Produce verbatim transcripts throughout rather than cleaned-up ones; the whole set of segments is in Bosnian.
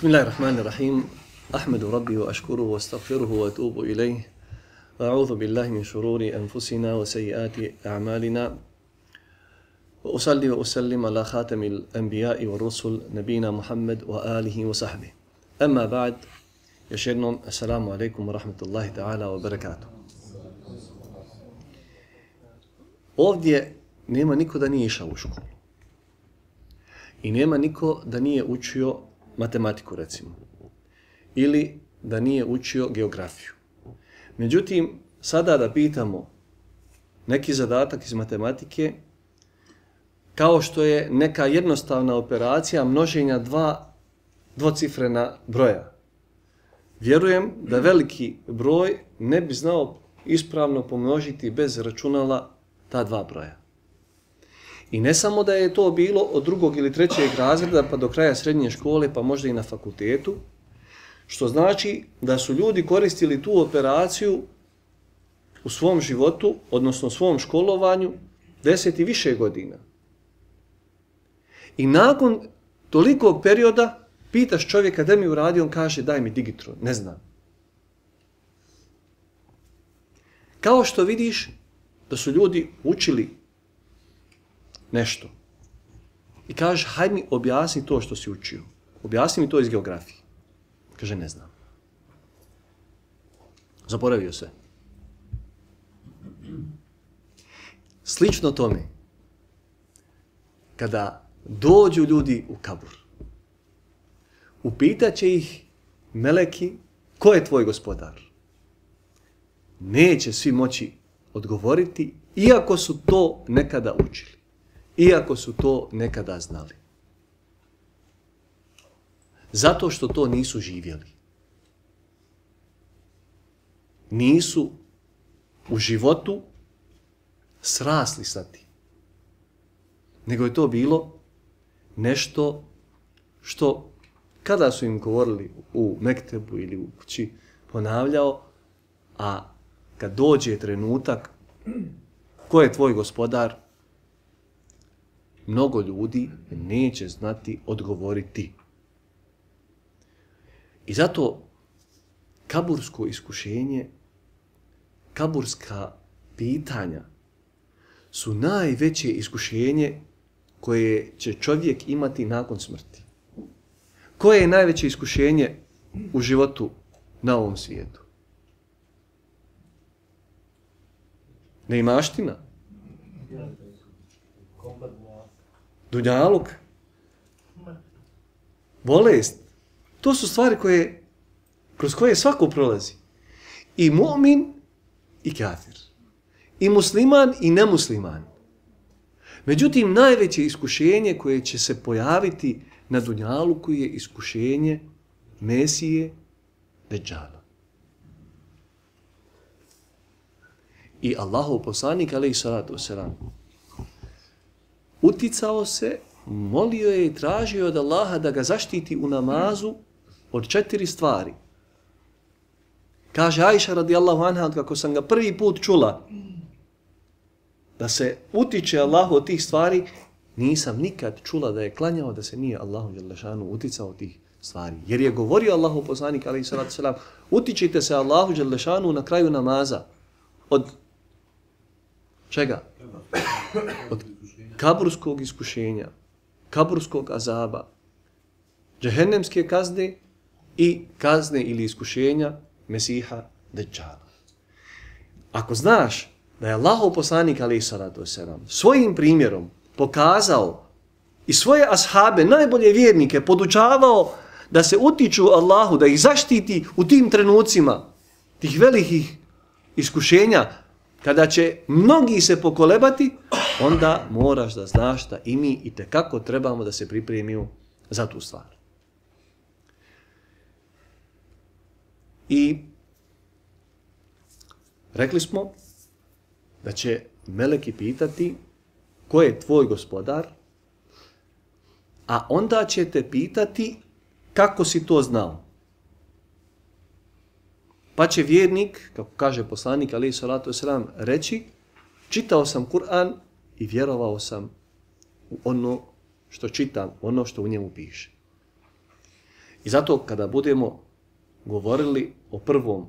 Bismillahirrahmanirrahim. Ahmedu Rabbi wa ashkuruhu wa astaghfiruhu wa atubu ilayh. Wa a'udhu billahi min shururi anfusina wa sayyiati a'malina. Wa usalli wa usallim ala khatamil anbiya'i wa rusul nabina Muhammad wa alihi wa sahbihi. Amma ba'd. Još jednom, assalamu alaikum wa rahmatullahi ta'ala wa barakatuh. Ovdje nema niko da nije išao u školu. I nema niko da nije učio matematiku, recimo. Ili da nije učio geografiju. Međutim, sada da pitamo neki zadatak iz matematike, kao što je neka jednostavna operacija množenja dva dvocifrena broja. Vjerujem da veliki broj ne bi znao ispravno pomnožiti bez računala ta dva broja. I ne samo da je to bilo od drugog ili trećeg razreda pa do kraja srednje škole pa možda i na fakultetu, što znači da su ljudi koristili tu operaciju u svom životu, odnosno svom školovanju, deset i više godina. I nakon tolikog perioda pitaš čovjeka da mi uradi, on kaže daj mi digitron, ne znam. Kao što vidiš da su ljudi učili nešto. I kaže, hajde mi objasni to što si učio. Objasni mi to iz geografije. Kaže, ne znam. Zaboravio se. Slično tome, kada dođu ljudi u kabur, upitaće ih meleki, ko je tvoj gospodar? Neće svi moći odgovoriti, iako su to nekada učili. Iako su to nekada znali. Zato što to nisu živjeli. Nisu u životu srasli sa tim. Nego je to bilo nešto što kada su im govorili u mektebu ili u kući ponavljao, a kad dođe trenutak ko je tvoj gospodar, mnogo ljudi neće znati odgovoriti. I zato kabursko iskušenje, kaburska pitanja su najveće iskušenje koje će čovjek imati nakon smrti. Koje je najveće iskušenje u životu na ovom svijetu? Neimaština? Dunjaluk? Bolest? To su stvari koje, kroz koje svako prolazi. I mu'min i kafir. I musliman i nemusliman. Međutim, najveće iskušenje koje će se pojaviti na Dunjaluku je iskušenje Mesije Deđala. I Allahov poslanik, alejhi salatu vesselam, uticao se, molio je i tražio od Allaha da ga zaštiti u namazu od četiri stvari. Kaže Ajša radijallahu anha, kako sam ga prvi put čula da se utiče Allahu od tih stvari, nisam nikad čula da je klanjao da se nije Allahu dželle šanu uticao od tih stvari. Jer je govorio Allahu poslanik alejhi salatu vesselam, utičite se Allahu dželle šanu na kraju namaza. Od čega? Od kaburskog iskušenja, kaburskog azaba, džehennemske kazne i kazne ili iskušenja Mesiha Deđala. Ako znaš da je Allahov poslanik alejhi salatu vesselam svojim primjerom pokazao i svoje ashabe, najbolje vjernike, podučavao da se utiču Allahu, da ih zaštiti u tim trenucima, tih velikih iskušenja, kada će mnogi se pokolebati, onda moraš da znaš da i mi itekako trebamo da se pripremimo za tu stvar. I rekli smo da će meleki pitati ko je tvoj gospodar, a onda će te pitati kako si to znao. Pa će vjernik, kako kaže poslanik alejhi salatu vesselam, reći, čitao sam Kur'an i vjerovao sam u ono što čitam, ono što u njemu piše. I zato kada budemo govorili o prvom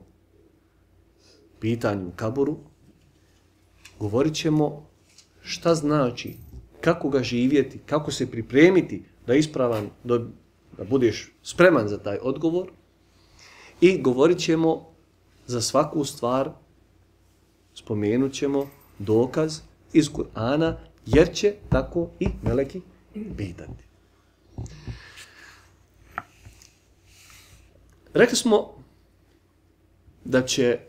pitanju u kaburu, govorit ćemo šta znači, kako ga živjeti, kako se pripremiti da ispravan, da budeš spreman za taj odgovor, i govorit ćemo za svaku stvar, spomenut ćemo dokaz iz Kur'ana, jer će tako i meleki pitati. Rekli smo da će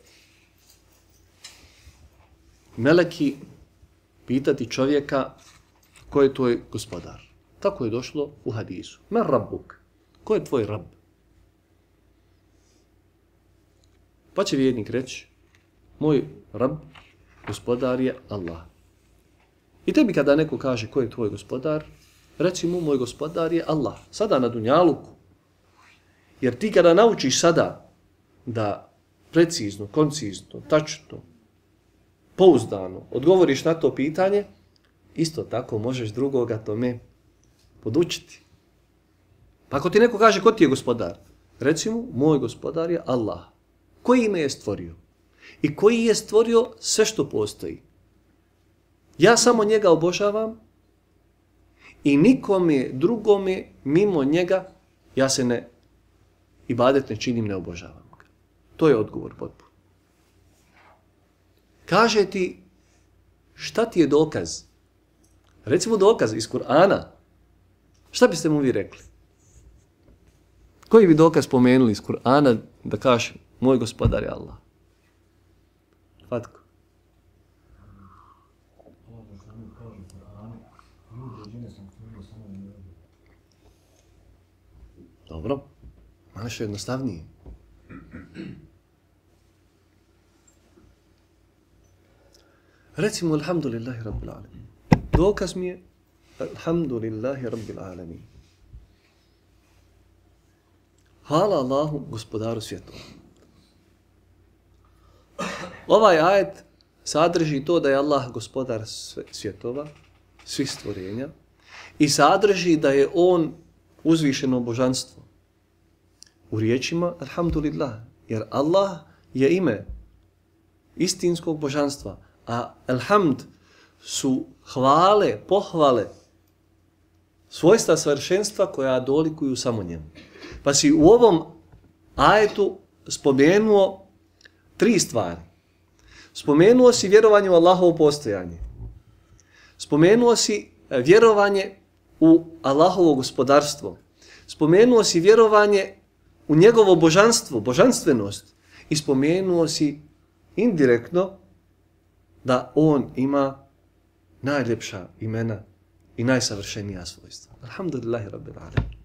meleki pitati čovjeka ko je tvoj gospodar. Tako je došlo u hadisu. Man rabbuk? Ko je tvoj rab? Pa će vjernik reći, moj rab, gospodar je Allah. I tebi kada neko kaže ko je tvoj gospodar, reci mu moj gospodar je Allah. Sada na dunjaluku. Jer ti kada naučiš sada da precizno, koncizno, tačno, pouzdano odgovoriš na to pitanje, isto tako možeš drugoga tome podučiti. Pa ako ti neko kaže ko ti je gospodar, reci mu moj gospodar je Allah. Koji me je stvorio? I koji je stvorio sve što postoji? Ja samo njega obožavam i nikome drugome mimo njega ja se ne ibadet ne činim, ne obožavam ga. To je odgovor potpuno. Kaže ti šta ti je dokaz? Recimo dokaz iz Kur'ana. Šta biste mu vi rekli? Koji bi dokaz spomenuli iz Kur'ana da kaže moj gospodar je Allah? Fatko. Dobro. Malo što je jednostavnije. Recimo, alhamdulillahi rabbil alamin. Dokaz mi je, alhamdulillahi rabbil alamin. Hvala Allahu, gospodaru svjetova. Ovaj ajet sadrži to da je Allah gospodar svjetova, svih stvorenja, i sadrži da je on uzvišeno božanstvo. U riječima, alhamdulillah, jer Allah je ime istinskog božanstva, a alhamd su hvale, pohvale, svojstva savršenstva koja dolikuju samo njemu. Pa si u ovom ajetu spomenuo tri stvari. Spomenuo si vjerovanje u Allahovo postojanje. Spomenuo si vjerovanje u Allahovo gospodarstvo. Spomenuo si vjerovanje u njegovo božanstvo, božanstvenost. I spomenuo si indirektno da on ima najljepša imena i najsavršenija svojstva. Alhamdulillahi rabbil alamin.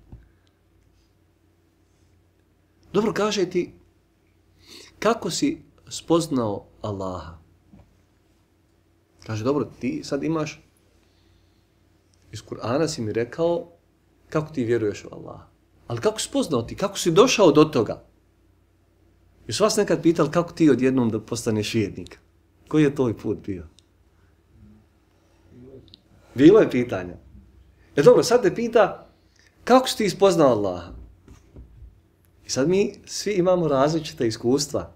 Dobro, kaže ti, kako si spoznao Allaha? Kaže, dobro, ti sad imaš, iz Kur'ana si mi rekao kako ti vjeruješ u Allaha. Ali kako si spoznao ti? Kako si došao do toga? Još vas nekad pitali kako ti odjednom da postaneš vjernik? Koji je tvoj put bio? Bilo je pitanja. E dobro, sad te pita kako si ti spoznao Allaha? I sad mi svi imamo različite iskustva.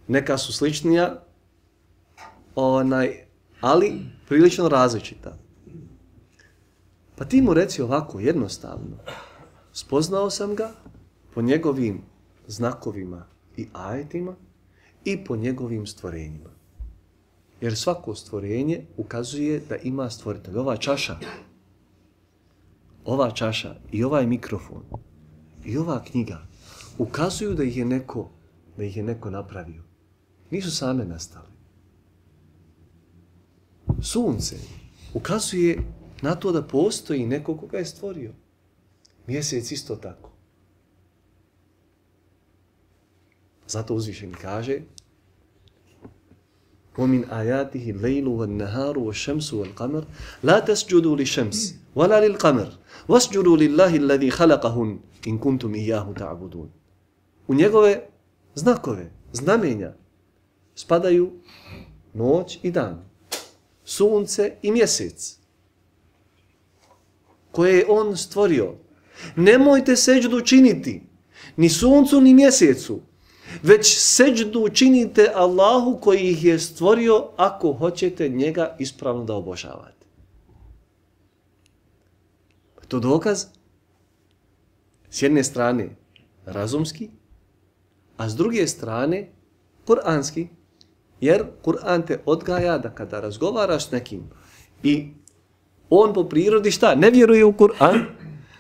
Neka su sličnija, onaj, ali prilično različita. Pa ti mu reci ovako, jednostavno. Spoznao sam ga po njegovim znakovima i ajetima i po njegovim stvorenjima. Jer svako stvorenje ukazuje da ima stvoritelj. Ova čaša, ova čaša i ovaj mikrofon i ova knjiga ukazuju da ih je neko, da ih je neko napravio. Nisu same nastale. Sunce ukazuje na to da postoji neko koga je stvorio. Mjesec isto tako. Zato uzvišen kaže وَمِنْ آيَاتِهِ اللَّيْلُ وَالنَّهَارُ وَالشَّمْسُ وَالْقَمَرُ لَا تَسْجُدُوا لِلشَّمْسِ وَلَا لِلْقَمَرِ وَاسْجُدُوا لِلَّهِ الَّذِي خَلَقَهُنْ إِنْ كُنْتُمْ إِيَّاهُ تَعْبُدُونَ. U njegove znakove, znamenja spadaju noć i dan, sunce i mjesec, koje je on stvorio. Nemojte seđdu činiti ni suncu ni mjesecu, već seđdu činite Allahu koji ih je stvorio ako hoćete njega ispravno da obožavate. To je dokaz s jedne strane razumski, a s druge strane kuranski, jer Kur'an te odgaja da kada razgovaraš s nekim i on po prirodi šta? Ne vjeruje u Kur'an,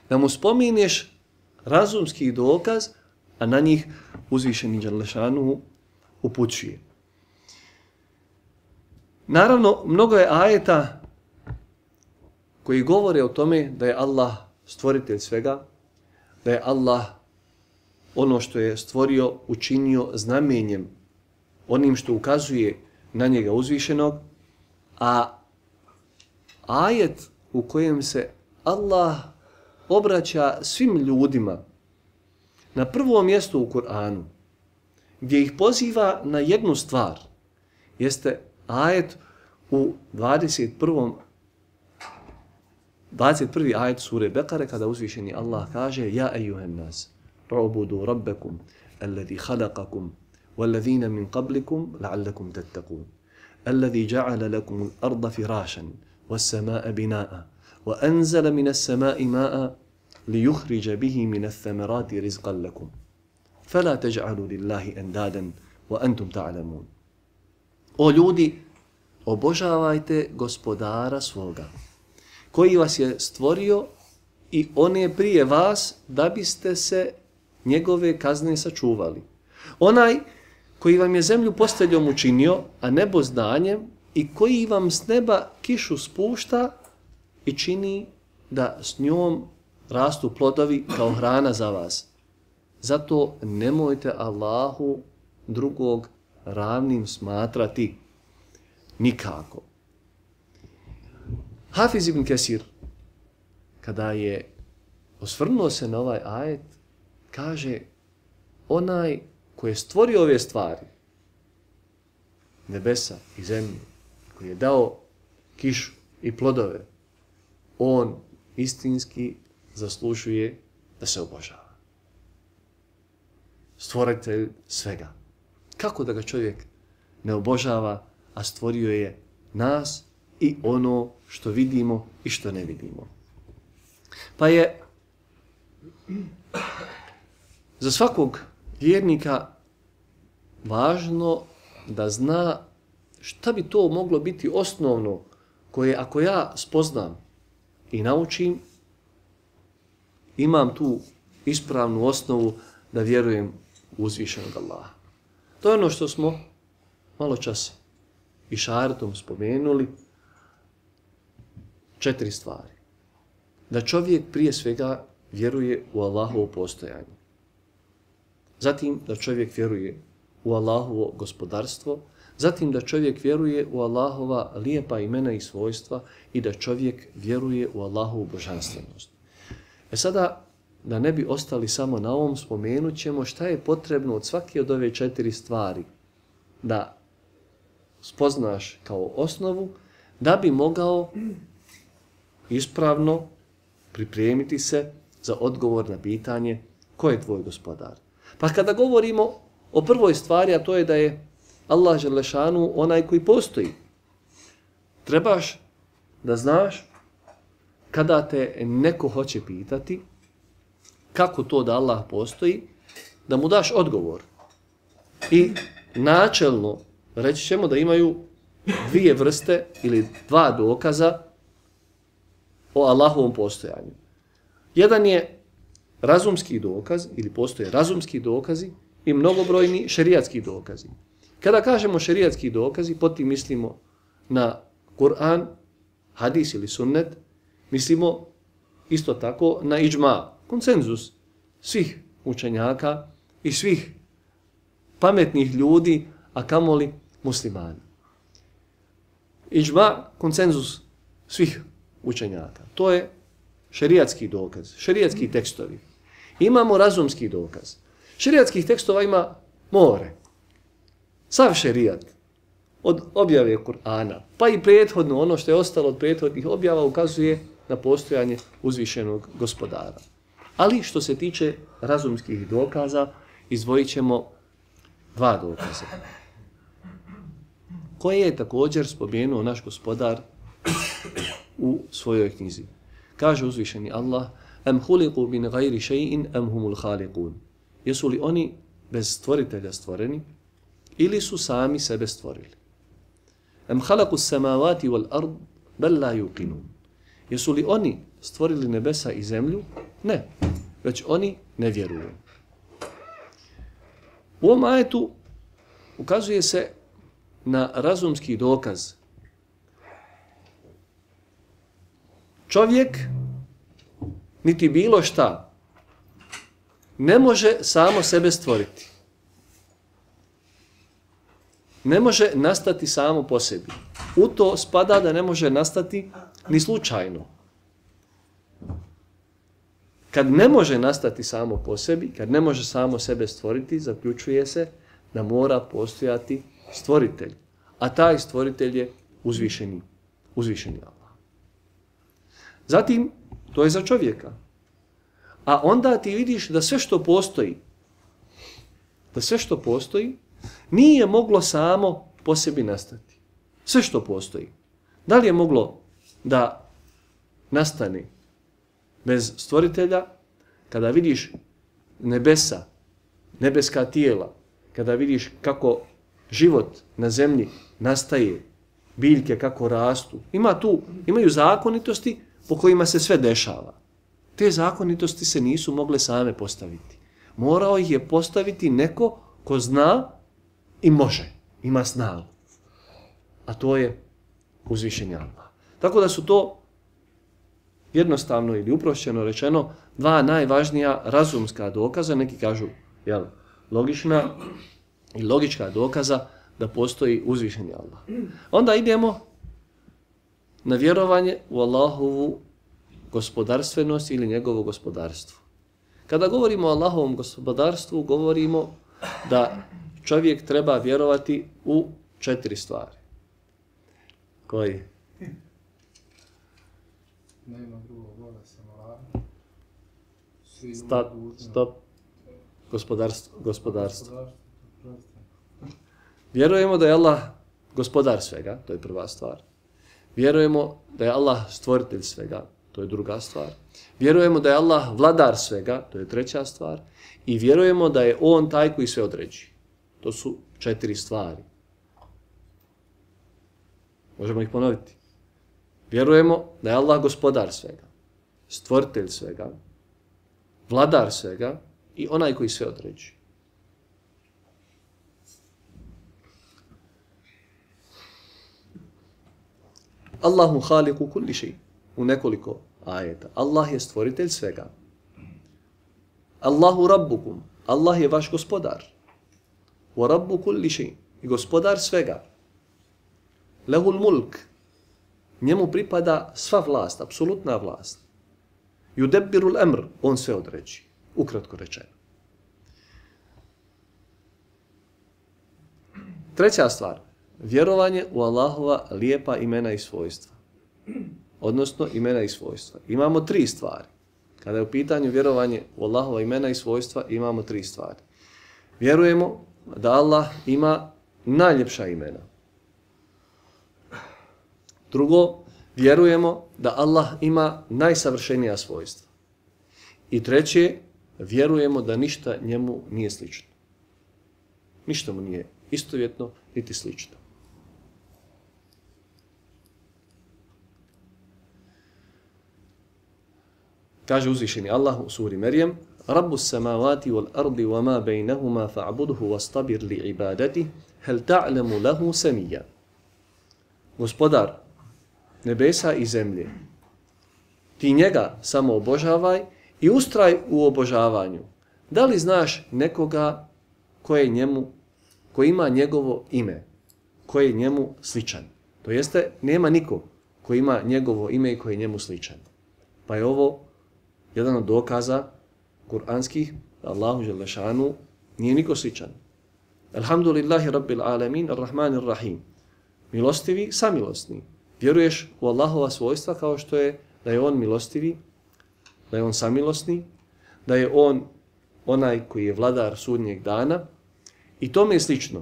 da mu spominješ razumski dokaz, a na njih uzvišeni Đalešanuhu upućuje. Naravno, mnogo je ajeta koji govore o tome da je Allah stvoritelj svega, da je Allah ono što je stvorio učinio znamenjem, onim što ukazuje na njega uzvišenog, a ajet u kojem se Allah obraća svim ljudima na prvom mjestu u Kur'anu, gdje ih poziva na jednu stvar, jeste ajet u dvadeset prvom dvadeset prvi ajet sure Bekare, kada uzvišeni Allah kaže: Ja ejuhen nas, u'budu rabbakum alladhi khalaqakum والذين من قبلكم لعلكم تتقون الذي جعل لكم الأرض فراشا والسماء بناء وأنزل من السماء ماء ليخرج به من الثمرات رزقا لكم فلا تجعلوا لله أندادا وأنتم تعلمون. O ljudi, obožavajte gospodara svoga, koji vas je stvorio i on je prije vas da biste se njegove kazne sačuvali. Onaj koji vam je zemlju posteljom učinio, a nebo zdanjem, i koji vam s neba kišu spušta i čini da s njom rastu plodovi kao hrana za vas. Zato nemojte Allahu drugog ravnim smatrati nikako. Hafiz ibn Kesir, kada je osvrnuo se na ovaj ajet, kaže: onaj koji je stvorio ove stvari, nebesa i zemlju, koji je dao kišu i plodove, on istinski zaslužuje da se obožava. Stvoritelj svega. Kako da ga čovjek ne obožava, a stvorio je nas i ono što vidimo i što ne vidimo. Pa je za svakog vjernika važno da zna šta bi to moglo biti osnovno koje ako ja spoznam i naučim, imam tu ispravnu osnovu da vjerujem u uzvišenog Allaha. To je ono što smo malo čas i šaretom spomenuli, četiri stvari. Da čovjek prije svega vjeruje u Allahovo postojanje. Zatim da čovjek vjeruje u Allahovo gospodarstvo, zatim da čovjek vjeruje u Allahova lijepa imena i svojstva i da čovjek vjeruje u Allahovu božanstvenost. E sada, da ne bi ostali samo na ovom, spomenut ćemo šta je potrebno od svake od ove četiri stvari da spoznaš kao osnovu, da bi mogao ispravno pripremiti se za odgovor na pitanje ko je tvoj gospodar. Pa kada govorimo o prvoj stvari, a to je da je Allah Đelešanu onaj koji postoji, trebaš da znaš kada te neko hoće pitati kako to da Allah postoji, da mu daš odgovor. I načelno reći ćemo da imaju dvije vrste ili dva dokaza o Allahovom postojanju. Jedan je razumski dokaz, ili postoje razumski dokazi i mnogobrojni šerijatski dokazi. Kada kažemo šerijatski dokazi, potim mislimo na Kur'an, hadis ili sunnet, mislimo isto tako na iđma, konsenzus svih učenjaka i svih pametnih ljudi, a kamoli muslimana. Iđma, konsenzus svih učenjaka. To je šerijatski dokaz, šerijatski tekstovi. Imamo razumski dokaz. Šerijatskih tekstova ima more. Sav šerijat od objave Kur'ana, pa i prethodno, ono što je ostalo od prethodnih objava, ukazuje na postojanje uzvišenog gospodara. Ali što se tiče razumskih dokaza, izdvojit ćemo dva dokaza, koje je također spomenuo naš gospodar u svojoj knjizi. Kaže uzvišeni Allah: Am huliku min gajri še'in am humul halikun. Jesu li oni bez stvoritelja stvoreni ili su sami sebe stvorili? Am halaku samavati wal ard bel la yuqinun. Jesu li oni stvorili nebesa i zemlju? Ne, već oni ne vjeruju. U ovom ajetu ukazuje se na razumski dokaz. Čovjek, niti bilo šta, ne može samo sebe stvoriti. Ne može nastati samo po sebi. U to spada da ne može nastati ni slučajno. Kad ne može nastati samo po sebi, kad ne može samo sebe stvoriti, zaključuje se da mora postojati stvoritelj. A taj stvoritelj je uzvišeni, uzvišeni Allah. Zatim, to je za čovjeka. A onda ti vidiš da sve što postoji, da sve što postoji, nije moglo samo po sebi nastati. Sve što postoji. Da li je moglo da nastane bez stvoritelja? Kada vidiš nebesa, nebeska tijela, kada vidiš kako život na zemlji nastaje, biljke kako rastu, ima tu, imaju zakonitosti po kojima se sve dešava. Te zakonitosti se nisu mogle same postaviti. Morao ih je postaviti neko ko zna i može, ima snagu. A to je uzvišeni Allah. Tako da su to jednostavno ili uprošćeno rečeno dva najvažnija razumska dokaza, neki kažu jel, logična i logička dokaza da postoji uzvišeni Allah. Onda idemo na vjerovanje u Allahovu gospodarstvenost ili njegovo gospodarstvo. Kada govorimo o Allahovom gospodarstvu, govorimo da čovjek treba vjerovati u četiri stvari. Koji? Nema drugog Boga sem Allah. Stop, stop. Gospodarstvo. gospodarstvo. Vjerujemo da je Allah gospodar svega, to je prva stvar. Vjerujemo da je Allah stvoritelj svega, to je druga stvar. Vjerujemo da je Allah vladar svega, to je treća stvar. I vjerujemo da je On taj koji sve određuje. To su četiri stvari. Možemo ih ponoviti. Vjerujemo da je Allah gospodar svega, stvoritelj svega, vladar svega i onaj koji sve određuje. Allahu haliku kulli šej. U nekoliko ajeta. Allah je stvoritelj svega. Allahu rabbukum. Allah je vaš gospodar. Wa rabbu kulli šej. I gospodar svega. Lehul mulk. Njemu pripada sva vlast, apsolutna vlast. Yudebbirul amr. On sve određuje. Ukratko rečeno. Treća stvar. Vjerovanje u Allahova lijepa imena i svojstva. Odnosno imena i svojstva. Imamo tri stvari. Kada je u pitanju vjerovanje u Allahova imena i svojstva, imamo tri stvari. Vjerujemo da Allah ima najljepša imena. Drugo, vjerujemo da Allah ima najsavršenija svojstva. I treće, vjerujemo da ništa njemu nije slično. Ništa mu nije istovjetno, niti slično. Kaže uzvišeni Allah u suri Merjem: Rabbus samavati wal ardi wa ma bejnehuma fa'buduhu wastabir li ibadati hel ta'lemu lahu samija. Gospodar nebesa i zemlje, ti njega samo obožavaj i ustraj u obožavanju. Da li znaš nekoga koje njemu, koji ima njegovo ime, koji je njemu sličan? To jeste, nema niko koji ima njegovo ime i koji je njemu sličan. Pa je ovo jedan od dokaza kuranskih da Allahu dželle šanu nije niko sličan. Alhamdulillahi rabbil alamin arrahmanir rahim. Milostivi, samilosni. Vjeruješ u Allahova svojstva kao što je da je on milostivi, da je on samilosni, da je on onaj koji je vladar sudnjeg dana i tome je slično.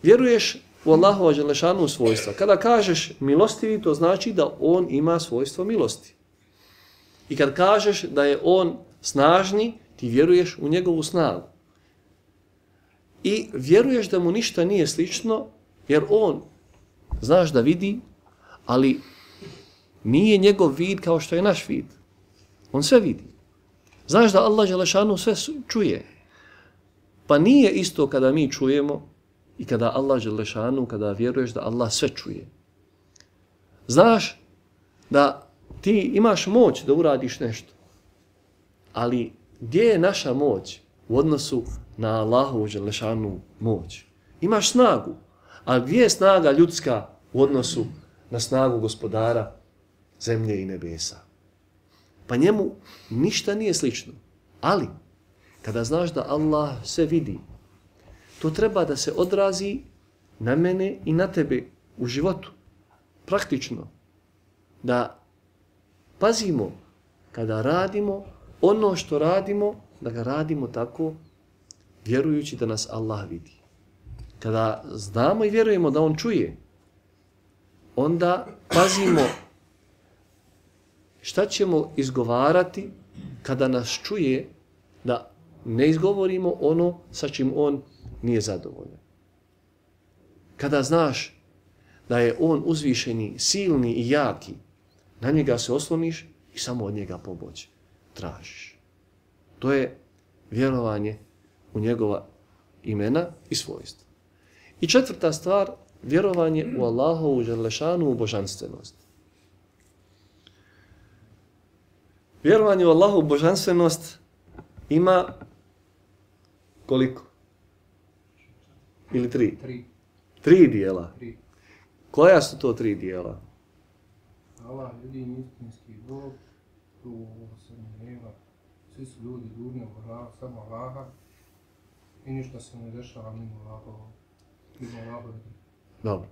Vjeruješ u Allahova dželešanu svojstva. Kada kažeš milostivi, to znači da on ima svojstvo milosti. I kad kažeš da je on snažni, ti vjeruješ u njegovu snagu. I vjeruješ da mu ništa nije slično, jer on, znaš da vidi, ali nije njegov vid kao što je naš vid. On sve vidi. Znaš da Allah dželešanu sve čuje. Pa nije isto kada mi čujemo i kada Allah dželešanu, kada vjeruješ da Allah sve čuje. Znaš da ti imaš moć da uradiš nešto. Ali gdje je naša moć u odnosu na Allahovu dželešanu moć? Imaš snagu, a gdje je snaga ljudska u odnosu na snagu gospodara zemlje i nebesa? Pa njemu ništa nije slično. Ali, kada znaš da Allah sve vidi, to treba da se odrazi na mene i na tebe u životu. Praktično. Da pazimo kada radimo ono što radimo, da ga radimo tako vjerujući da nas Allah vidi. Kada znamo i vjerujemo da on čuje, onda pazimo šta ćemo izgovarati kada nas čuje, da ne izgovorimo ono sa čim on nije zadovoljan. Kada znaš da je on uzvišeni, silni i jaki, na njega se osloniš i samo od njega pomoć tražiš. To je vjerovanje u njegova imena i svojstva. I četvrta stvar, vjerovanje u Allahovu dželešanu božanstvenost. Vjerovanje u Allahovu božanstvenost ima koliko? Ili tri? Tri. Tri dijela. Tri. Koja su to tri dijela? Allah, jedini istinski Bog, tu se ne nema. Svi su ljudi dužni obožavati samo Allaha i ništa se ne dešava mimo Allaha. Mimo Allaha. Dobro.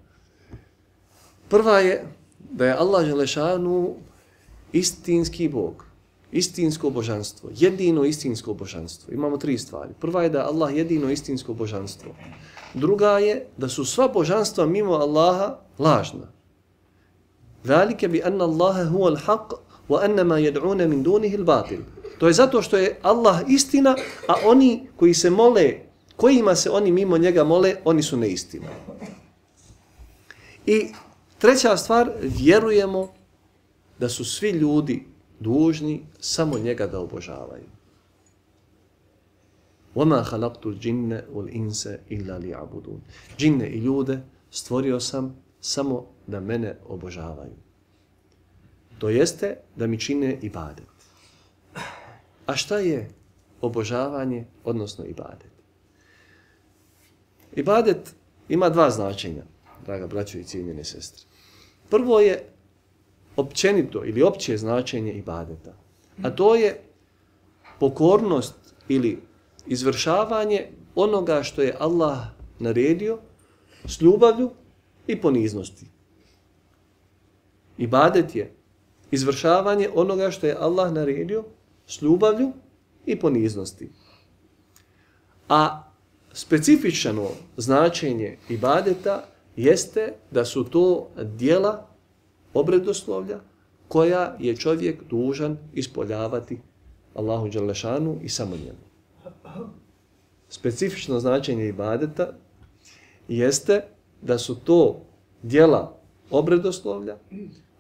Prva je da je Allah dželešanu istinski Bog. Istinsko božanstvo. Jedino istinsko božanstvo. Imamo tri stvari. Prva je da je Allah jedino istinsko božanstvo. Druga je da su sva božanstva mimo Allaha lažna. Zalike bi anna Allaha huwa al-haq wa anna ma yad'una min dunihi al-batil. To je zato što je Allah istina, a oni koji se mole, kojima se oni mimo njega mole, oni su neistina. I treća stvar, vjerujemo da su svi ljudi dužni samo njega da obožavaju. وَمَا خَلَقْتُ الْجِنَّ وَالْإِنْسَ إِلَّا لِيَعْبُدُونَ. Džinne i ljude stvorio sam samo da mene obožavaju. To jeste da mi čine ibadet. A šta je obožavanje, odnosno ibadet? Ibadet ima dva značenja, draga braćo i cijenjene sestre. Prvo je općenito ili opće značenje ibadeta, a to je pokornost ili izvršavanje onoga što je Allah naredio s ljubavlju i poniznosti. Ibadet je izvršavanje onoga što je Allah naredio s ljubavlju i poniznosti. A specifično značenje ibadeta jeste da su to djela obredoslovlja koja je čovjek dužan ispoljavati Allahu dželešanu i samo njemu. Specifično značenje ibadeta jeste da su to djela obredoslovlja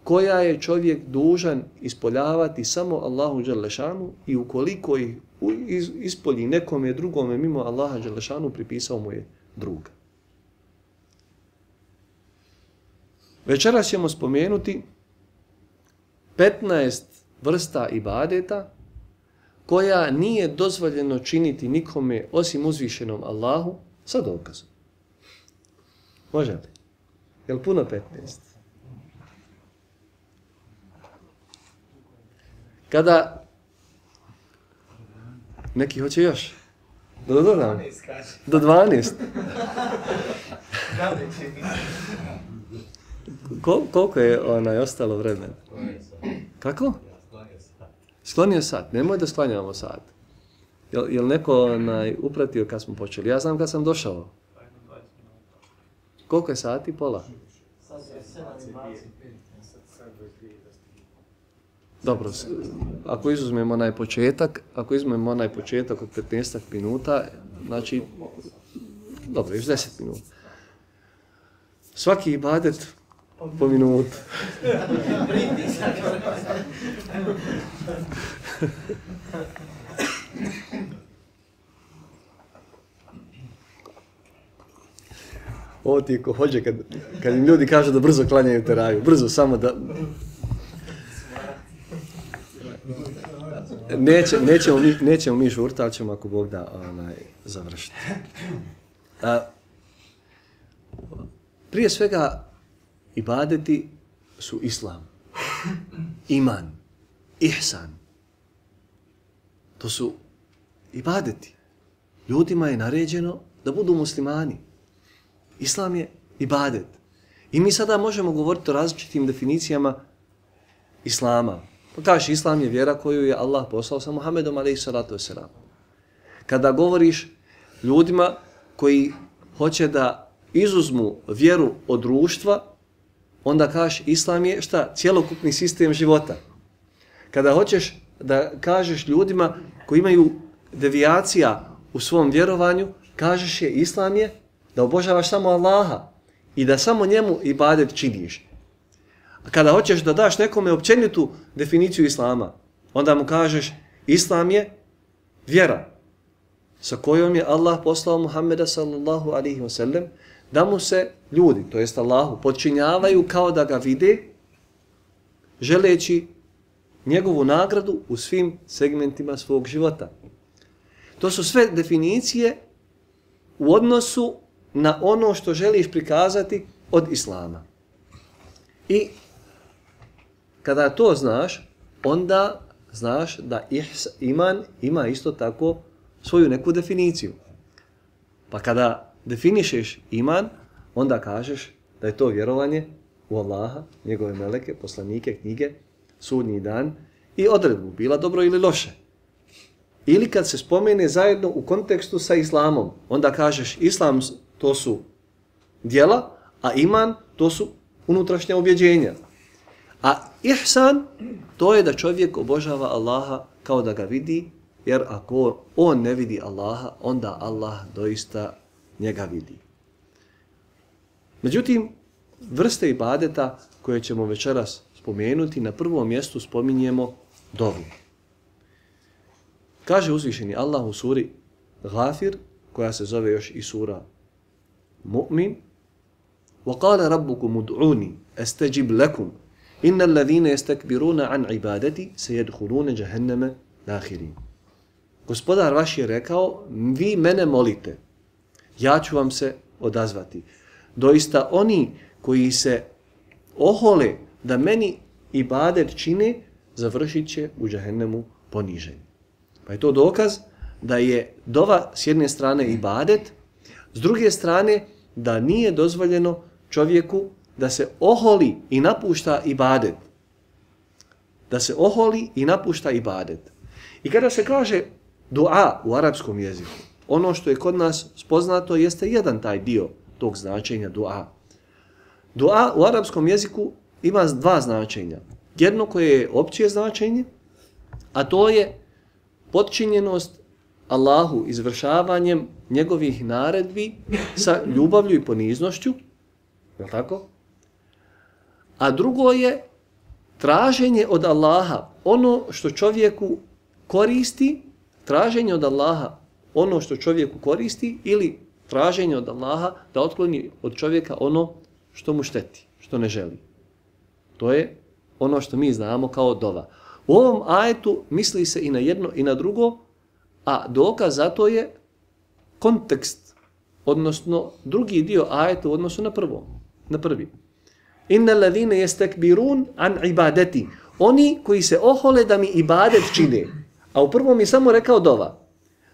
koja je čovjek dužan ispoljavati samo Allahu dželešanu i ukoliko ih ispolji nekome drugome mimo Allaha dželešanu, pripisao mu je druga. Večeras ćemo spomenuti petnaest vrsta ibadeta koja nije dozvoljeno činiti nikome osim uzvišenom Allahu sa dokazom. Može li? Je li puno petnaest? Kada neki hoće još? Do dodam? Do dvanaest. Kol, koliko je onaj ostalo vremena? Kako? Sklonio sat, nemoj da sklanjamo sat. Jel, jel neko onaj, upratio kad smo počeli? Ja znam kad sam došao. Koliko je sati? Pola? Dobro, ako izuzmemo onaj početak, ako izuzmemo onaj početak od petnaest minuta, znači, dobro, još deset minuta. Svaki ibadet po minutu. Ovo ti je ko hođe kad, kad im ljudi kažu da brzo klanjaju teraviju. Brzo, samo da... Neće, nećemo, mi, nećemo mi žurta, ali ćemo ako Bog da onaj, završiti. A, prije svega, ibadeti su islam, iman, ihsan. To su ibadeti. Ljudima je naređeno da budu muslimani. Islam je ibadet. I mi sada možemo govoriti o različitim definicijama islama. Pa kažeš, islam je vjera koju je Allah poslao sa Muhammedom alejhi salatu vesselam. Kada govoriš ljudima koji hoće da izuzmu vjeru od društva, onda kažeš, islam je šta? Cjelokupni sistem života. Kada hoćeš da kažeš ljudima koji imaju devijacija u svom vjerovanju, kažeš je, islam je da obožavaš samo Allaha i da samo njemu ibadet činiš. A kada hoćeš da daš nekome općenitu definiciju islama, onda mu kažeš, islam je vjera sa kojom je Allah poslao Muhammeda sallallahu alaihi wa sallam, da mu se ljudi, to jest Allahu, podčinjavaju kao da ga vide, želeći njegovu nagradu u svim segmentima svog života. To su sve definicije u odnosu na ono što želiš prikazati od islama. I kada to znaš, onda znaš da ihs, iman ima isto tako svoju neku definiciju. Pa kada definišeš iman, onda kažeš da je to vjerovanje u Allaha, njegove meleke, poslanike, knjige, sudnji dan i odredbu, bila dobro ili loše. Ili kad se spomene zajedno u kontekstu sa islamom, onda kažeš islam to su djela, a iman to su unutrašnja ubjeđenja. A ihsan to je da čovjek obožava Allaha kao da ga vidi, jer ako on ne vidi Allaha, onda Allah doista njega vidi. Međutim, vrste ibadeta koje ćemo večeras spomenuti, na prvom mjestu spominjemo dovu. Kaže uzvišeni Allah u suri Ghafir, koja se zove još i sura Mu'min, وَقَالَ رَبُّكُمُ دُعُونِ أَسْتَجِبْ لَكُمْ إِنَّ الَّذِينَ يَسْتَكْبِرُونَ عَنْ عِبَادَتِ سَيَدْخُلُونَ جَهَنَّمَ دَاخِرِينَ. Gospodar vaš je rekao, vi mene molite, ja ću vam se odazvati. Doista oni koji se ohole da meni ibadet čine, završit će u džahennemu poniženi. Pa je to dokaz da je dova s jedne strane ibadet, s druge strane da nije dozvoljeno čovjeku da se oholi i napušta ibadet. Da se oholi i napušta ibadet. I kada se kaže dua u arapskom jeziku, ono što je kod nas spoznato jeste jedan taj dio tog značenja dua. Dua u arapskom jeziku ima dva značenja. Jedno koje je opće značenje, a to je potčinjenost Allahu izvršavanjem njegovih naredbi sa ljubavlju i poniznošću, je li tako? A drugo je traženje od Allaha ono što čovjeku koristi, traženje od Allaha ono što čovjeku koristi ili traženje od Allaha da otkloni od čovjeka ono što mu šteti, što ne želi. To je ono što mi znamo kao dova. U ovom ajetu misli se i na jedno i na drugo, a dokaz za to je kontekst, odnosno drugi dio ajeta u odnosu na prvo, na prvi. Inna alladhina yastakbirun an ibadati. Oni koji se ohole da mi ibadet čine. A u prvom je samo rekao dova.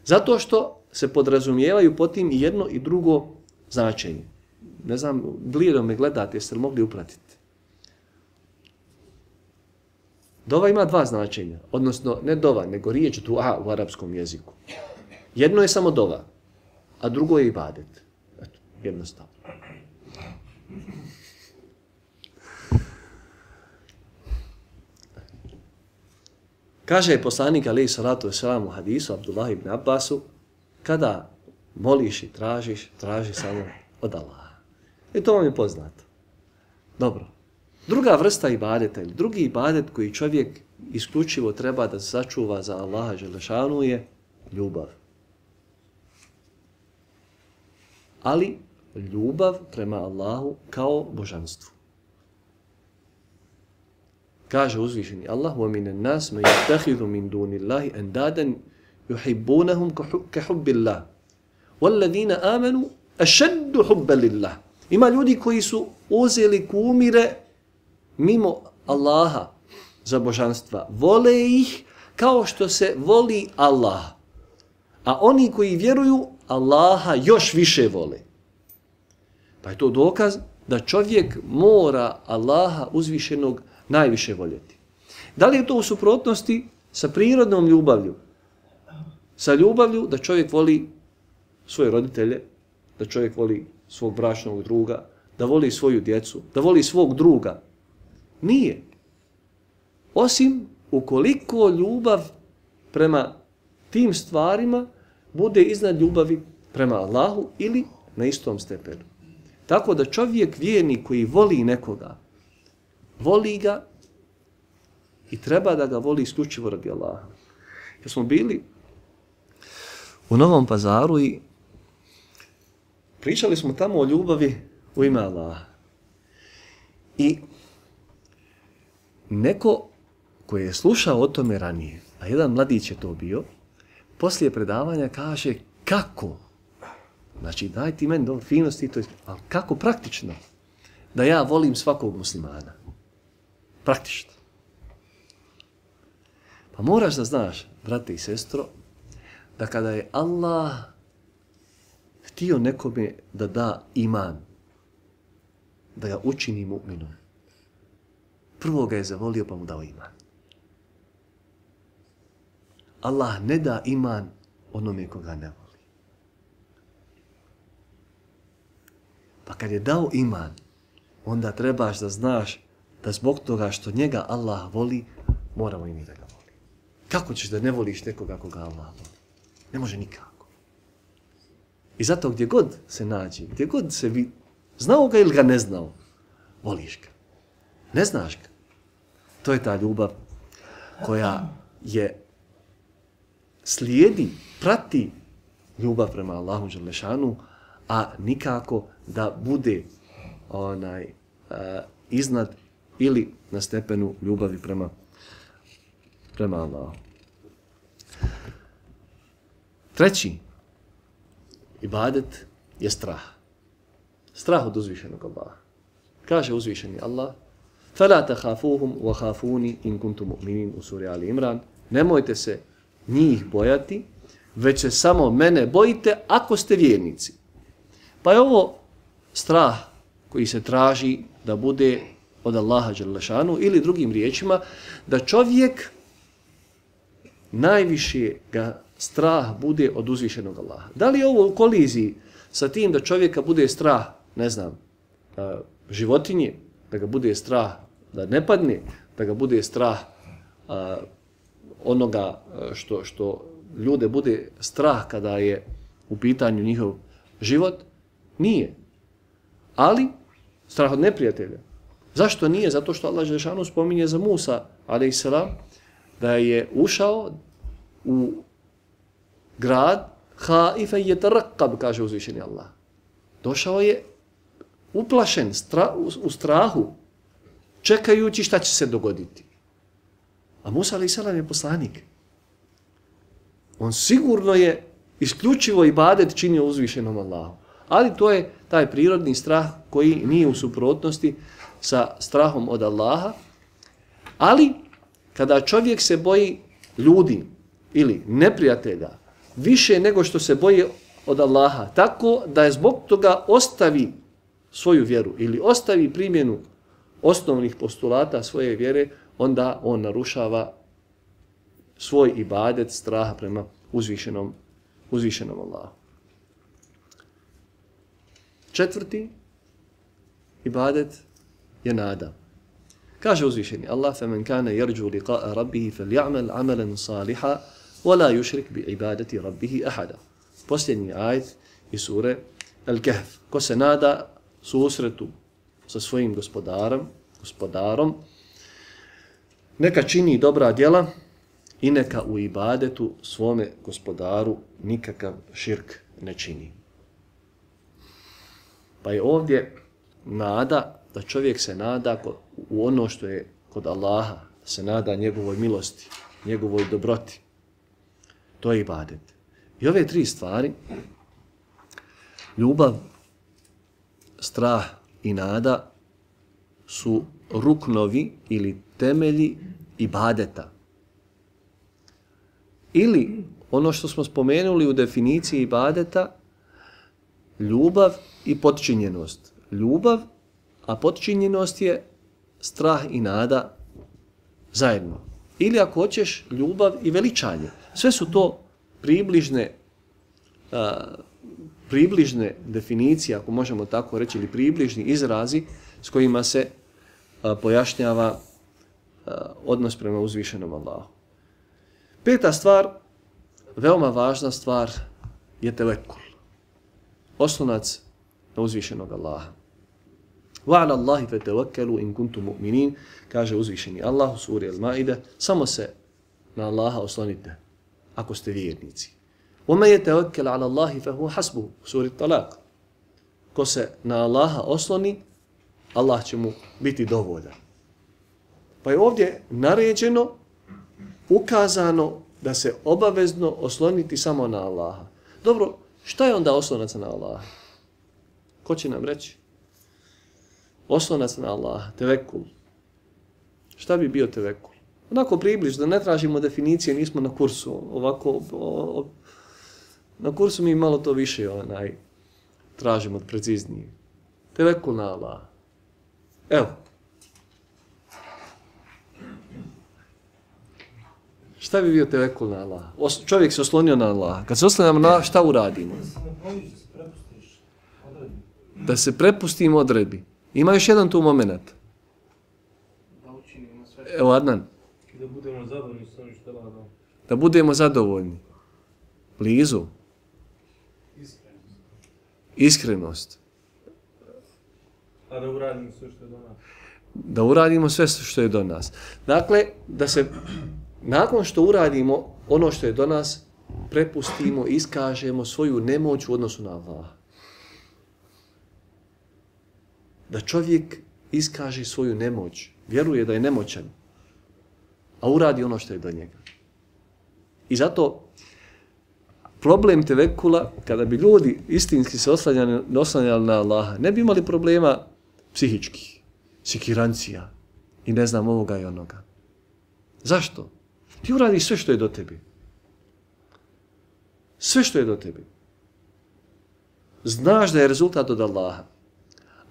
Zato što se podrazumijevaju po tim i jedno i drugo značenje. Ne znam, blijedom me gledate, jeste li mogli upratiti? Dova ima dva značenja, odnosno ne dova, nego riječ dua u arapskom jeziku. Jedno je samo dova, a drugo je ibadet. Eto, jednostavno. Kaže poslanik alejhi salatu vesselam u hadisu Abdullah ibn Abbasu, kada moliš i tražiš, traži samo od Allaha. I to vam je poznato. Dobro. Druga vrsta ibadeta ili drugi ibadet koji čovjek isključivo treba da sačuva za Allaha dželešanu je ljubav. Ali ljubav prema Allahu kao božanstvu. Kaže uzvišeni Allah: وَمِنَ النَّاسِ مَنْ يَتَّخِذُ مِنْ دُونِ اللَّهِ أَنْدَادًا يُحِبُّونَهُمْ كَحُبِّ اللَّهِ وَالَّذِينَ آمَنُوا أَشَدُّ حُبًّا لِلَّهِ. Ima ljudi koji su uzeli kumire mimo Allaha za božanstva. Vole ih kao što se voli Allah. A oni koji vjeruju Allaha još više vole. Pa je to dokaz da čovjek mora Allaha uzvišenog najviše voljeti. Da li je to u suprotnosti sa prirodnom ljubavlju? Sa ljubavlju da čovjek voli svoje roditelje, da čovjek voli svog bračnog druga, da voli svoju djecu, da voli svog druga. Nije. Osim ukoliko ljubav prema tim stvarima bude iznad ljubavi prema Allahu ili na istom stepenu. Tako da čovjek vjernik koji voli nekoga, voli ga i treba da ga voli isključivo radi Allaha. Jer smo bili u Novom Pazaru i pričali smo tamo o ljubavi u ime Allaha. I neko koji je slušao o tome ranije, a jedan mladić je to bio, poslije predavanja kaže kako, znači daj ti meni do finosti, to je, ali kako praktično da ja volim svakog muslimana. Praktično. Pa moraš da znaš, brate i sestro, da kada je Allah htio nekome da da iman, da ga učini mu'minom, prvo ga je zavolio pa mu dao iman. Allah ne da iman onome koga ne voli. Pa kad je dao iman, onda trebaš da znaš da zbog toga što njega Allah voli, moramo i mi da ga voli. Kako ćeš da ne voliš nekoga koga Allah voli? Ne može nikako. I zato gdje god se nađe, gdje god se vidi, znao ga ili ga ne znao, voliš ga. Ne znaš ga. To je ta ljubav koja je slijedi, prati ljubav prema Allahu dželešanu, a nikako da bude onaj uh, iznad ili na stepenu ljubavi prema prema Allahu. Treći ibadet je strah. Strah od uzvišenog Allaha. Kaže uzvišeni Allah: فَلَا تَخَافُوهُمْ وَخَافُونِ إِنْ كُنْتُمْ مُؤْمِنِينَ u suri Ali Imran. Nemojte se njih bojati, već se samo mene bojite ako ste vjernici. Pa je ovo strah koji se traži da bude od Allaha dželešanu ili drugim riječima da čovjek najviše ga strah bude od uzvišenog Allaha. Da li je ovo u koliziji sa tim da čovjeka bude strah, ne znam, životinje, da ga bude strah da ne padne, da ga bude strah a, onoga što, što ljude bude strah kada je u pitanju njihov život? Nije. Ali strah od neprijatelja. Zašto nije? Zato što Allah dželešanu spominje za Musa alejselam da je ušao u grad haifa yataraqqab, kaže uzvišeni Allah. Došao je uplašen, stra, u, u strahu, čekajući šta će se dogoditi. A Musa alejselam je poslanik. On sigurno je isključivo ibadet činio uzvišenom Allahu. Ali to je taj prirodni strah koji nije u suprotnosti sa strahom od Allaha. Ali kada čovjek se boji ljudi ili neprijatelja više nego što se boji od Allaha, tako da je zbog toga ostavi svoju vjeru ili ostavi primjenu osnovnih postulata svoje vjere, onda on narušava svoj ibadet straha prema uzvišenom, uzvišenom Allahu. Četvrti ibadet je nada. Kaže uzvišeni Allah: فَمَنْ كَانَ يَرْجُو لِقَاءَ رَبِّهِ فَلْيَعْمَلْ عَمَلًا صَالِحًا وَلَا يُشْرِكْ بِعِبَادَةِ رَبِّهِ أَحَدًا. Posljednji ajet iz sure Al-Kahf. Ko se nada susretu sa svojim gospodarom, gospodarom, neka čini dobra djela i neka u ibadetu svome gospodaru nikakav širk ne čini. Pa je ovdje nada, da čovjek se nada u ono što je kod Allaha, se nada njegovoj milosti, njegovoj dobroti. To je ibadet. I ove tri stvari, ljubav, strah i nada, su ruknovi ili temelji ibadeta. Ili ono što smo spomenuli u definiciji ibadeta, ljubav i potčinjenost. Ljubav, a potčinjenost je strah i nada zajedno. Ili ako hoćeš, ljubav i veličanje. Sve su to približne, a, približne definicije, ako možemo tako reći, ili približni izrazi s kojima se a, pojašnjava a, odnos prema uzvišenom Allahu. Peta stvar, veoma važna stvar, je tevekul. Oslonac na uzvišenog Allaha. وَعَلَى اللَّهِ فَتَوَكَّلُوا إِن كُنْتُمْ مُؤْمِنِينَ, kaže uzvišeni Allah u suri Al-Maide, samo se na Allaha oslonite ako ste vjernici. وَمَا يَتَوَكَّلَ عَلَى اللَّهِ فَهُوَ حَسْبُهُ, u suri Talak. Ko se na Allaha osloni, Allah će mu biti dovoljan. Pa je ovdje naređeno, ukazano da se obavezno osloniti samo na Allaha. Dobro, šta je onda oslonac na Allaha? Ko će nam reći? Oslonac na Allaha, tevekul. Šta bi bio tevekul? Onako približno, ne tražimo definicije, nismo na kursu. Ovako, o, o, na kursu mi malo to više onaj, tražimo preciznije. Tevekul na Allaha. Evo. Šta bi bio tevekul na Allaha? Os, čovjek se oslonio na Allaha. Kad se oslonimo na Allaha, šta uradimo? Da se prepustimo odredbi. Ima još jedan tu moment. Evo Adnan. Da budemo zadovoljni s onim što radimo. Da budemo zadovoljni. Blizu. Iskrenost. Iskrenost. A da uradimo sve što je do nas. Da uradimo sve što je do nas. Dakle, da se nakon što uradimo ono što je do nas, prepustimo, iskažemo svoju nemoć u odnosu na Allaha. Da čovjek iskaže svoju nemoć, vjeruje da je nemoćan, a uradi ono što je do njega. I zato problem tevekula, kada bi ljudi istinski se oslanjali, oslanjali na Allaha, ne bi imali problema psihičkih, sikirancija i ne znam ovoga i onoga. Zašto? Ti uradiš sve što je do tebi. Sve što je do tebi. Znaš da je rezultat od Allaha.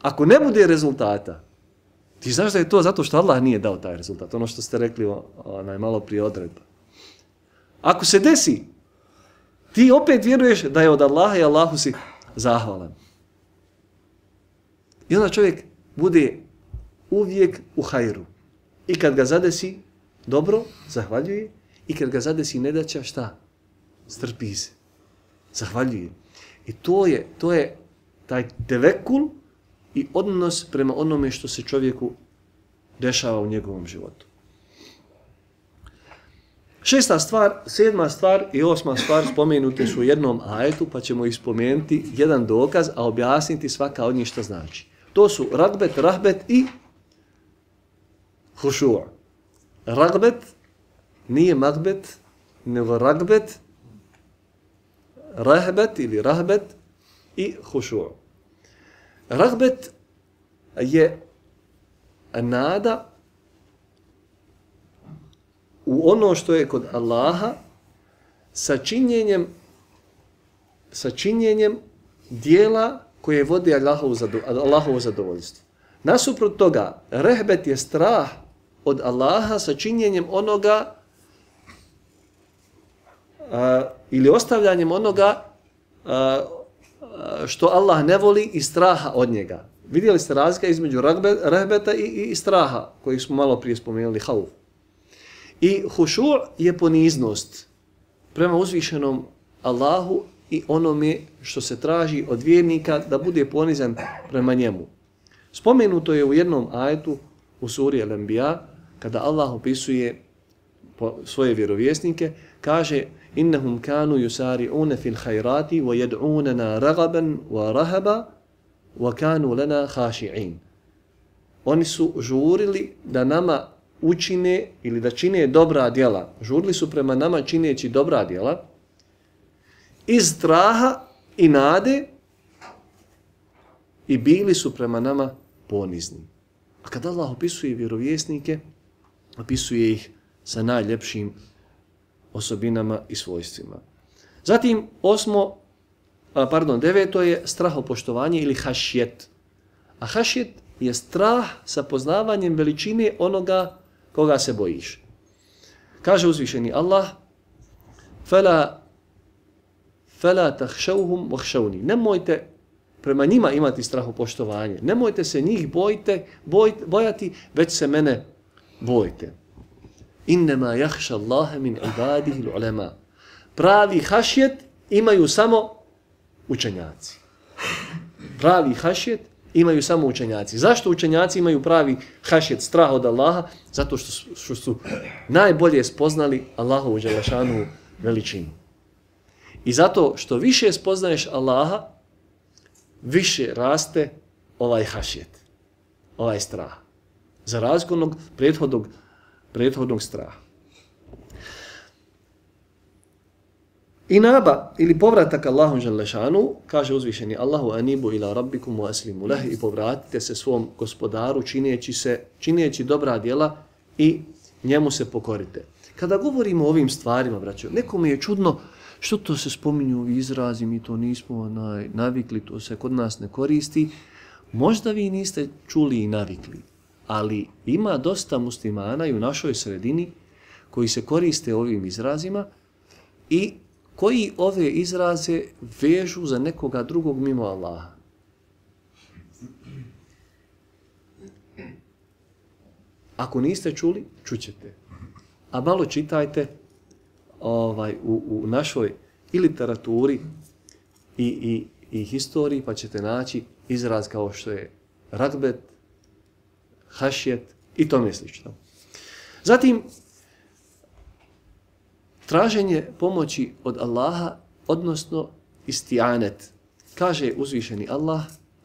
Ako ne bude rezultata, ti znaš da je to zato što Allah nije dao taj rezultat. Ono što ste rekli onaj, malo prije odredba. Ako se desi, ti opet vjeruješ da je od Allaha i Allahu si zahvalan. I onda čovjek bude uvijek u hajru. I kad ga zadesi dobro, zahvaljuje. I kad ga zadesi nedaća, šta? Strpi se. Zahvaljuje. I to je, to je taj tevekul i odnos prema onome što se čovjeku dešava u njegovom životu. Šesta stvar, sedma stvar i osma stvar spomenute su u jednom ajetu, pa ćemo ih spomenuti jedan dokaz, a objasniti svaka od njih što znači. To su ragbet, rahbet i hušu'. Ragbet nije magbet, nego ragbet, rahbet ili rahbet i hušu'. Ragbet je nada u ono što je kod Allaha sa činjenjem, sa činjenjem dijela koje vodi Allahovu zadovoljstvo. Nasuprot toga, rehbet je strah od Allaha sa činjenjem onoga a, ili ostavljanjem onoga a, a, što Allah ne voli i straha od njega. Vidjeli ste razlika između rahbeta i, i, i straha, koji smo malo prije spomenuli, hauf. I hušu' je poniznost prema uzvišenom Allahu i onome što se traži od vjernika da bude ponizan prema njemu. Spomenuto je u jednom ajetu u suri Al-Anbiya, kada Allah opisuje svoje vjerovjesnike, kaže innahum kanu yusari'una fil khayrati wa yad'unana raghaban wa rahaba wa kanu lana khashi'in. Oni su žurili da nama učine ili da čine dobra djela. Žurili su prema nama čineći dobra djela iz straha i nade i bili su prema nama ponizni. A kada Allah opisuje vjerovjesnike, opisuje ih sa najljepšim osobinama i svojstvima. Zatim osmo, a, pardon, deveto je strahopoštovanje ili hašjet. A hašjet je strah sa poznavanjem veličine onoga koga se bojiš. Kaže uzvišeni Allah: "Fala fala takhshawhum wakhshawni." Nemojte prema njima imati strahopoštovanje. Nemojte se njih bojite, boj, bojati, već se mene bojite. Innama yakhsha Allaha min ibadihi al-ulama. Pravi hašjet imaju samo učenjaci. Pravi hašjet imaju samo učenjaci. Zašto učenjaci imaju pravi hašjet, strah od Allaha? Zato što su, što su najbolje spoznali Allahovu dželešanu veličinu. I zato što više spoznaješ Allaha, više raste ovaj hašjet, ovaj strah. Za razliku od prethodnog, prethodnog straha. Inaba ili povratak Allahu dželešanu, kaže uzvišeni Allahu anibu ila rabbikum wa aslimu leh, i povratite se svom gospodaru čineći, se, čineći dobra djela i njemu se pokorite. Kada govorimo o ovim stvarima, braćo, nekome je čudno što to se spominju ovi izrazi, mi to nismo onaj, navikli, to se kod nas ne koristi. Možda vi niste čuli i navikli, ali ima dosta muslimana i u našoj sredini koji se koriste ovim izrazima i koji ove izraze vežu za nekoga drugog mimo Allaha. Ako niste čuli, čućete. A malo čitajte ovaj, u, u našoj i literaturi i, i, i historiji, pa ćete naći izraz kao što je ragbet, hašjet i tome slično. Zatim, traženje pomoći od Allaha, odnosno isti'anet. Kaže uzvišeni Allah: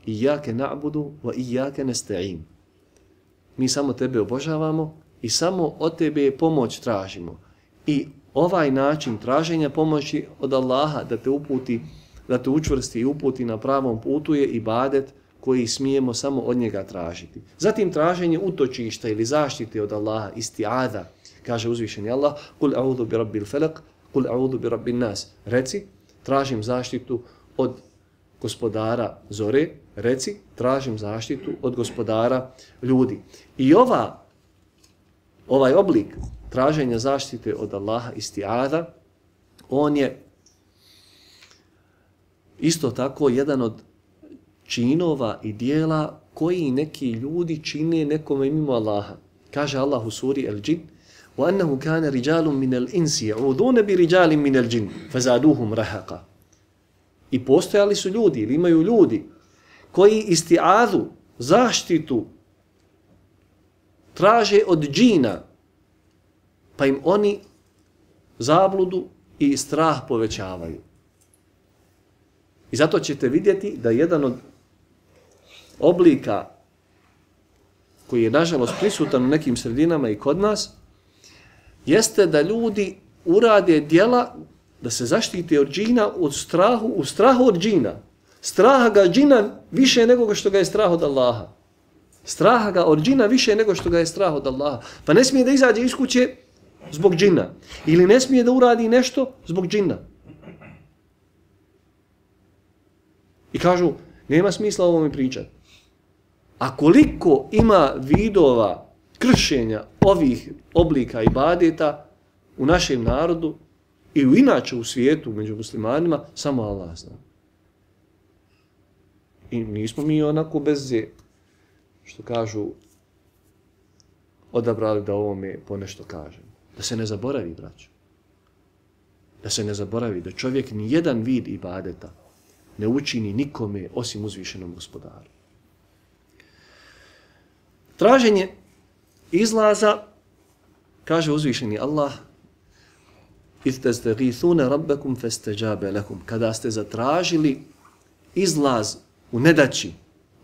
"Iyake na'budu wa iyake nasta'in." Mi samo tebe obožavamo i samo od tebe pomoć tražimo. I ovaj način traženja pomoći od Allaha da te uputi, da te učvrsti i uputi na pravom putu je ibadet koji smijemo samo od njega tražiti. Zatim traženje utočišta ili zaštite od Allaha, isti'ada. Kaže uzvišeni Allah: "Kul a'udhu bi rabbil falaq, kul a'udhu bi rabbin nas." Reci, tražim zaštitu od gospodara zore, reci, tražim zaštitu od gospodara ljudi. I ova, ovaj oblik traženja zaštite od Allaha, isti'ada, on je isto tako jedan od činova i dijela koji neki ljudi čine nekome mimo Allaha. Kaže Allah u suri Al-Džin: وَأَنَّهُ كَانَ رِجَالٌ مِنَ الْإِنْسِ يَعُوذُونَ بِرِجَالٍ مِنَ الْجِنِّ فَزَادُوهُمْ رَهَقًا. I postojali su ljudi, ili imaju ljudi, koji isti'adu, zaštitu, traže od džina, pa im oni zabludu i strah povećavaju. I zato ćete vidjeti da jedan od oblika koji je nažalost prisutan u nekim sredinama i kod nas, jeste da ljudi urade djela da se zaštite od džina, od strahu, u strahu od džina. Straha ga džina više nego što ga je strah od Allaha. Straha ga od džina više nego što ga je strah od Allaha. Pa ne smije da izađe iz kuće zbog džina. Ili ne smije da uradi nešto zbog džina. I kažu, nema smisla o ovome pričati. A koliko ima vidova kršenja ovih oblika ibadeta u našem narodu i u inače u svijetu među muslimanima, samo Allah zna. I nismo mi onako bez, što kažu, odabrali da ovome ponešto kažem. Da se ne zaboravi, braćo. Da se ne zaboravi da čovjek ni jedan vid ibadeta ne učini nikome osim uzvišenom gospodaru. Traženje izlaza, kaže uzvišeni Allah, istastagithuna rabbakum fastajabe lakum, kada ste zatražili izlaz u nedaći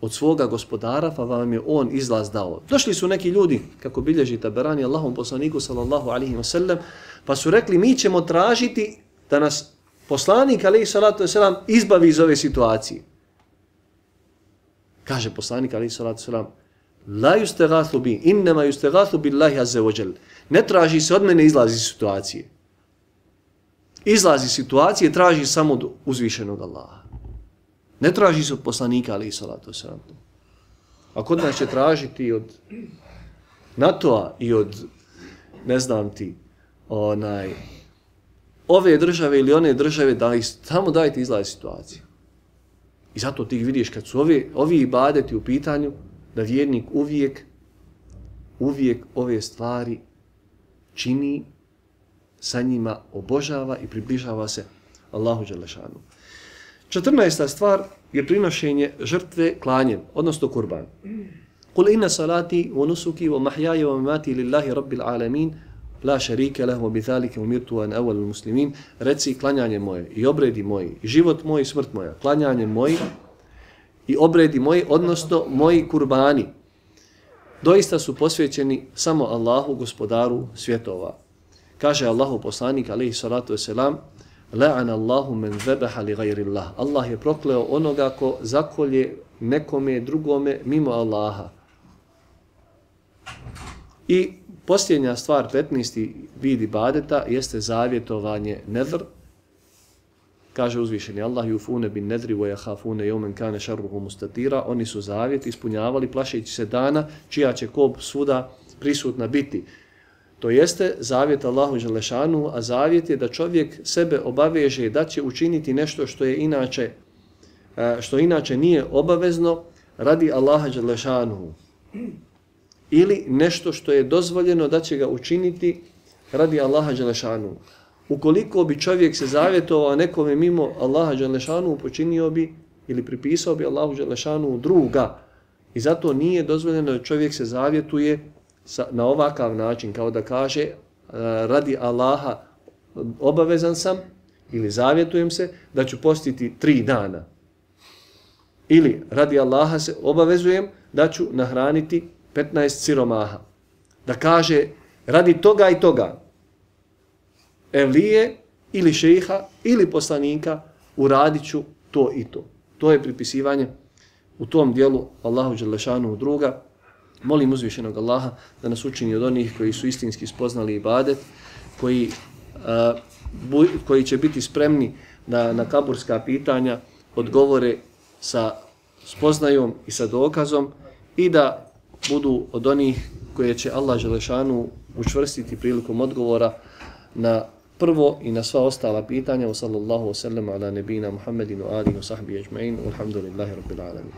od svoga gospodara, pa vam je on izlaz dao. Došli su neki ljudi, kako bilježi Taberani Allahom poslaniku sallallahu alaihi wa sallam, pa su rekli mi ćemo tražiti da nas poslanik alaihi salatu wasalam izbavi iz ove situacije. Kaže poslanik alaihi salatu wasalam, la yustagathu bi, innama yustagathu billahi azza wa jal. Ne traži se od mene izlazi iz situacije. Izlazi iz situacije traži samo od uzvišenog Allaha. Ne traži se od poslanika alaihi salatu wasalam. A kod nas će tražiti od NATO-a i od, ne znam ti, onaj, ove države ili one države, da ih samo dajte izlaz situacije. I zato ti vidiš kad su ovi, ovi ibadeti u pitanju, da vjernik uvijek, uvijek ove stvari čini, sa njima obožava i približava se Allahu dželešanu. Četrnaesta stvar je prinošenje žrtve klanjem, odnosno kurban. Kul inna salati wa nusuki wa mahyaja wa mamati lillahi rabbil alamin la šarike lahu bi zalika umirtu an awwalul muslimin. Reci klanjanje moje i obredi moji, i život moj i smrt moja, klanjanje moji i obredi moji, odnosno moji kurbani, doista su posvećeni samo Allahu, gospodaru svjetova. Kaže Allahu poslanik alejhi salatu vesselam, la'ana Allahu man zabaha li ghayri Allah. Allah je prokleo onoga ko zakolje nekome drugome mimo Allaha. I posljednja stvar, petnaesti vid ibadeta, jeste zavjetovanje nedr. Kaže uzvišeni Allah, yufune bin nedri wa yakhafune yawman kana sharruhu mustatira. Oni su zavjet ispunjavali plašeći se dana čija će kop svuda prisutna biti. To jeste zavjet Allahu dželešanu, a zavjet je da čovjek sebe obaveže da će učiniti nešto što je inače što inače nije obavezno radi Allaha dželešanu. Ili nešto što je dozvoljeno da će ga učiniti radi Allaha dželešanu. Ukoliko bi čovjek se zavjetovao nekome mimo Allaha dželešanu, počinio bi ili pripisao bi Allahu dželešanu druga. I zato nije dozvoljeno da čovjek se zavjetuje sa, na ovakav način, kao da kaže radi Allaha obavezan sam ili zavjetujem se da ću postiti tri dana. Ili radi Allaha se obavezujem da ću nahraniti petnaest siromaha. Da kaže radi toga i toga, evlije ili šejha ili poslanika, uradit ću to i to. To je pripisivanje u tom dijelu Allahu dželešanu druga. Molim uzvišenog Allaha da nas učini od onih koji su istinski spoznali ibadet, koji, a, bu, koji će biti spremni da na kaburska pitanja odgovore sa spoznajom i sa dokazom i da budu od onih koje će Allah dželešanu učvrstiti prilikom odgovora na prvo i na sva ostala pitanja. Wa sallallahu wa sallam ala nebina Muhammedinu alihi wa sahbihi ajma'in. Alhamdulillahi rabbil alamin.